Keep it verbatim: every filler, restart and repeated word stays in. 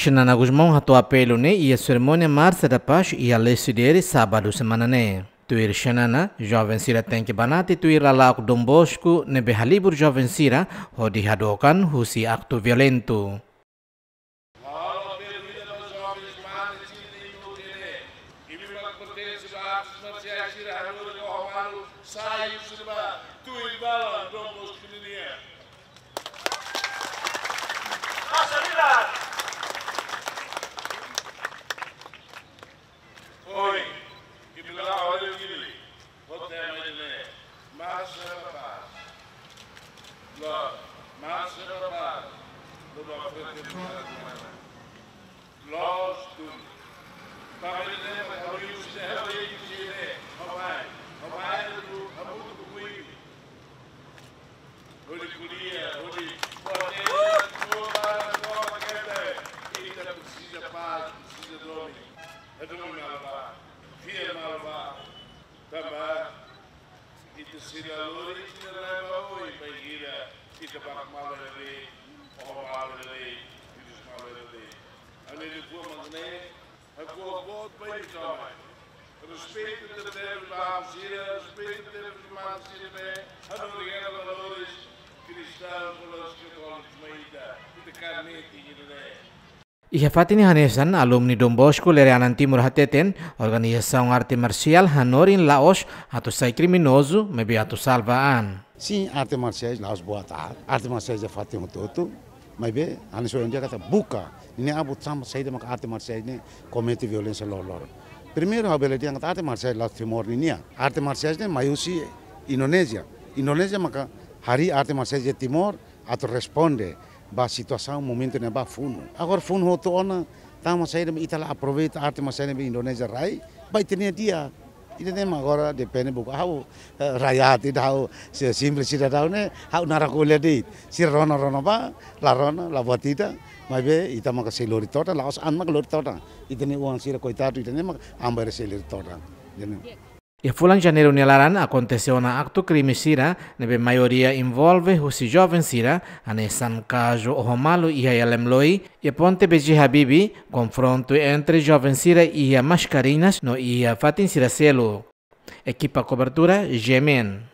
Xanana Gusmão hato'o apelu ne'e iha serimónia Marcha da Paz iha Lecidere, sábadu semana ne'e. Tuir Xanana, joven sira tenke banati tuir lala'ok Don Bosco ne'ebé halibur joven sira hodi hadook an husi aktu violentu. Ohin, ita la'o hela Dili, ho tema ida-ne'e, Marcha da Paz. Loos, Marcha da Paz, loos, fraternidade humana. Loos duni. Para ida-ne'e, para o Yusuf, é o Yusuf, né? Ó mai, ó mai, ó mai, ó mai, ó mai. Hodi ko'alia, hodi ko'alia, ko'alia, ko'alia, ita presiza pás, presiza domin. Ita domin malva, fiar malva, tanba ita sei la lori, ita la lori ba oin, bainhira ita bá malva lori, ó malva lori, ita malva lori. Ami de boa maneira, Ha'u boot ba ita-boot. Respeitu tebes ba sira, respeitu tebes ba sira, hanorin valores kristaun, valores katólikus, mai ita, ita karne ita ne'e. Iha fatin ne'e hanesan, alumni Don Bosco Lere Anan Timur hateten, organizasaun arte marsiál hanorin la'ós atu sai kriminozu, maibé atu salva an. Sin, arte marsiais la'ós boot, arte marsiais iha fatin hotu-hotu, maibé, hanesan ohin dehan katak buka, ne'e abu tanba saida maka arte marsiais ne'e komete violénsia loroloron. Primeiru, ha'u bele dehan katak arte marsiais la'ós Timor ninian. Arte marsiais ne'e mai husi Indonézia. Indonézia maka harii arte marsiais iha Timor atu responde ba situasaun momentu ne'ebá funu. Agora funu hotu ona, tanba saida mak ita la aproveita arte marsiais ne'ebé Indonézia rai, ba ita-nia di'ak. Ida-ne'e mak agora depende buat ha'u, eh, rakyat ida ha'u, se simples sidadaun ne'e, ha'u naran ko'alia de'it. Sira rona, rona bá, la rona, la buat ida, maibé ita maka sei lori todan, la'ós an maka lori todan. Ita-nia oan sira koitadu, ita-nia maka an bainhira sei lori todan. Ida-ne'e. Iha fulan Janeiru nia laran akontese ona aktu krime sira, ne'ebé maioria envolve husi joven sira, hanesan kazu oho malu iha Yalemloi, iha ponte B J Habibie, konfrontu entre joven sira iha Mascarenhas no iha fatin sira seluk. Ekipa kobertura, G M N.